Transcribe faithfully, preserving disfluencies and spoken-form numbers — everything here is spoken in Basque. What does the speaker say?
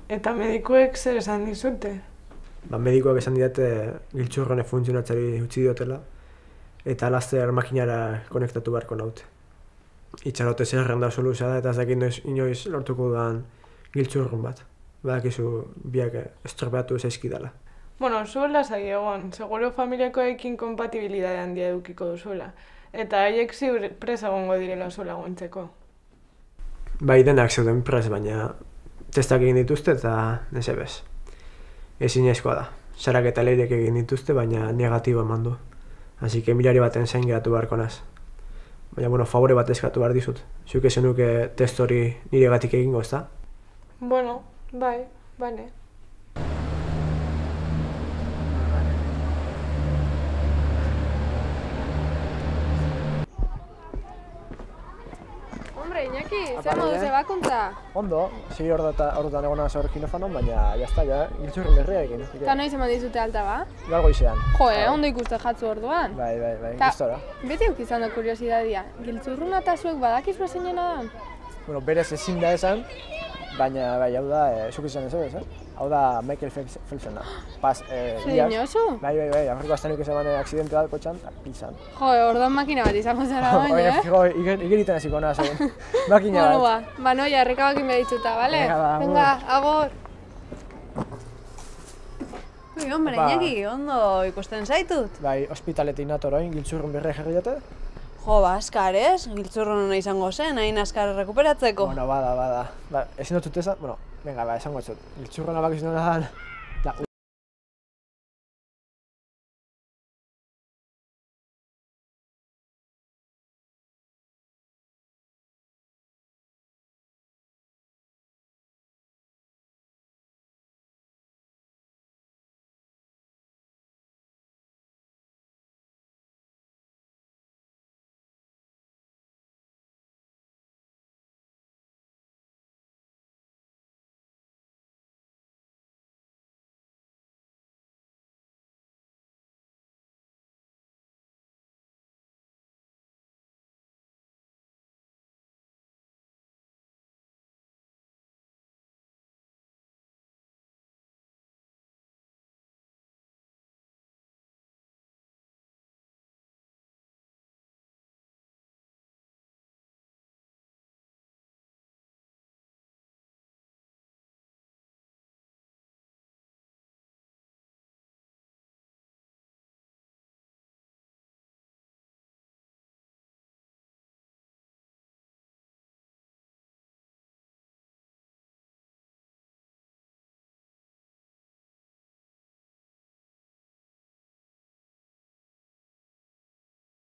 Eta medikuek zer esan dizute? Ba, medikoak esan didate giltzurrone funtzionatzari utzi diotela, eta laster makinara konektatu beharko naute. Itxarote zerren da soluza da, eta ez dakit inoiz, inoiz lortuko dudan giltzurrun bat. Badakizu biak estropeatu zaizkidala. Bueno, zuela zai egon, seguro familiakoekin kompatibilidade handia edukiko duzuela. Eta haiek ziur presa egongo direla zuela gontzeko. Bai, denak zeuden pres, baina testak egin dituzte eta nesebez. Ezinezkoa da. Sarak eta leirek egin dituzte, baina negatibo eman du. Así que mirari baten zain geratu beharko naz. Baina, bueno, favore bat eskatu behar dizut. Zuk esan nuke test hori niregatik egingo, ezta? Bueno, bai, bane. Hombre, Iñaki, zer modu zebakuntza? Ondo, sei ordutan egona zor kinofanon, baina jazta, ja, giltzurren berria egin. Eta noiz eman dizute alta ba? Gaur goizean. Jo, eh, ondo ikuste jatzu orduan. Bai, bai, bai, Ta, gustora. beti euk izan da kuriosidadia. Giltzurruna eta zuek badakizua zeinena da? Bueno, berez ezin da esan, baina bai, hau da, e, zuk izan ez ez, eh? Hau da Michael Phelpsena. Pas, eh, Zer dinosu? Bai, bai, bai, Afriko aztenik esan aksidente bat kotxan, pilzan. Jo, orduan makina bat izango zara baina, eh? Fijo, igeriten hasiko naz, egin. Makina Bueno, bat. ba, ba, noia, errekabakin behitzuta, bale? Venga, ba, Venga, agor. Ui, hombre, Opa. Iñaki, ondo ikusten zaitut. Bai, ospitaletik nator orain, giltzurrun berria jarri dute. Jo, ba, askar ez, giltzurruna izango zen, hain askar rekuperatzeko. Bueno, bada, bada. Ba, ezin dut esan, bueno, venga, ba, esango ez dut. Giltzurruna bakiz nona dan,